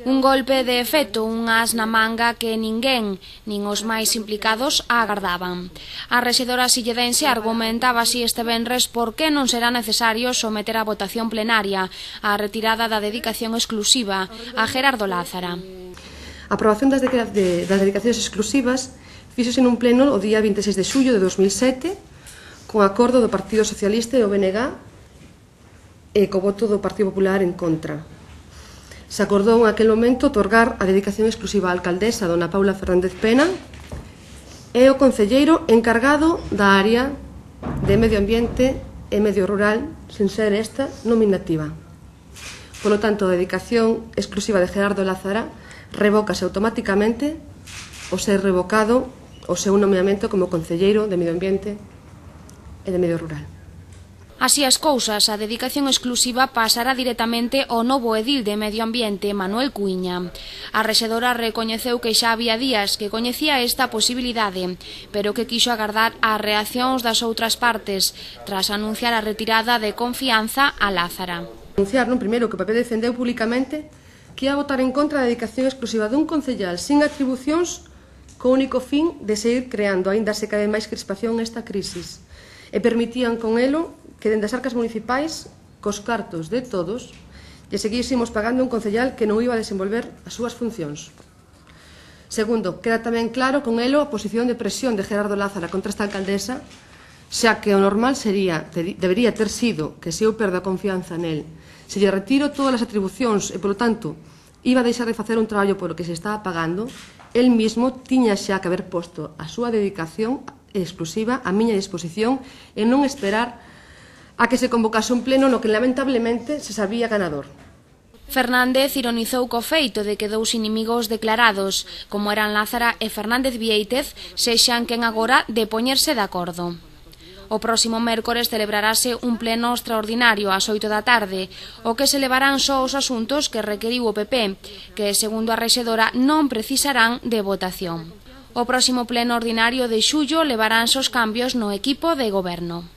Un golpe de efecto, un as na manga que ninguén, nin os máis implicados, agardaban. A rexedora silledense argumentaba así este venres por que non será necesario someter a votación plenaria a retirada da dedicación exclusiva a Gerardo Lázara. A aprobación das dedicacións exclusivas fíxose nun pleno o día 26 de xullo de 2007 con acordo do Partido Socialista e o BNG e co voto do Partido Popular en contra. Se acordou en aquel momento otorgar a dedicación exclusiva á alcaldesa dona Paula Fernández Pena e o concelleiro encargado da área de medio ambiente e medio rural, sen ser esta nominativa. Polo tanto, a dedicación exclusiva de Gerardo Lázara revócase automáticamente ao ser revocado o seu nomeamento como concelleiro de medio ambiente e de medio rural. Así as cousas, a dedicación exclusiva pasará directamente ao novo edil de Medio Ambiente, Manuel Cuíña. A rexedora recoñeceu que xa había días que coñecía esta posibilidade, pero que quixo agardar as reaccións das outras partes, tras anunciar a retirada de confianza a Lázara. Anunciar, primeiro, que o PP defendeu públicamente que ia votar en contra da dedicación exclusiva dun concellal sin atribucións co único fin de seguir creando aínda se cada vez máis crispación nesta crisis e permitían con elo que dende as arcas municipais, cos cartos de todos, lle seguísemos pagando un concellal que non iba a desenvolver as súas funcións. Segundo, queda tamén claro con elo a posición de presión de Gerardo Lázara contra esta alcaldesa, xa que o normal debería ter sido que se eu perdo a confianza nel, se lle retiro todas as atribucións e, polo tanto, iba a deixar de facer un traballo polo que se estaba pagando, el mismo tiña xa que haber posto a súa dedicación exclusiva a miña disposición e non esperar a que se convocase un pleno no que lamentablemente se sabía ganador. Fernández ironizou co feito de que dous inimigos declarados, como eran Lázara e Fernández Viéitez, sexan quen agora de poñerse de acordo. O próximo mércores celebrarase un pleno extraordinario ás 8 da tarde, o que se levarán só os asuntos que requeriu o PP, que, segundo a rexedora, non precisarán de votación. O próximo pleno ordinario de xullo levaránse os cambios no equipo de goberno.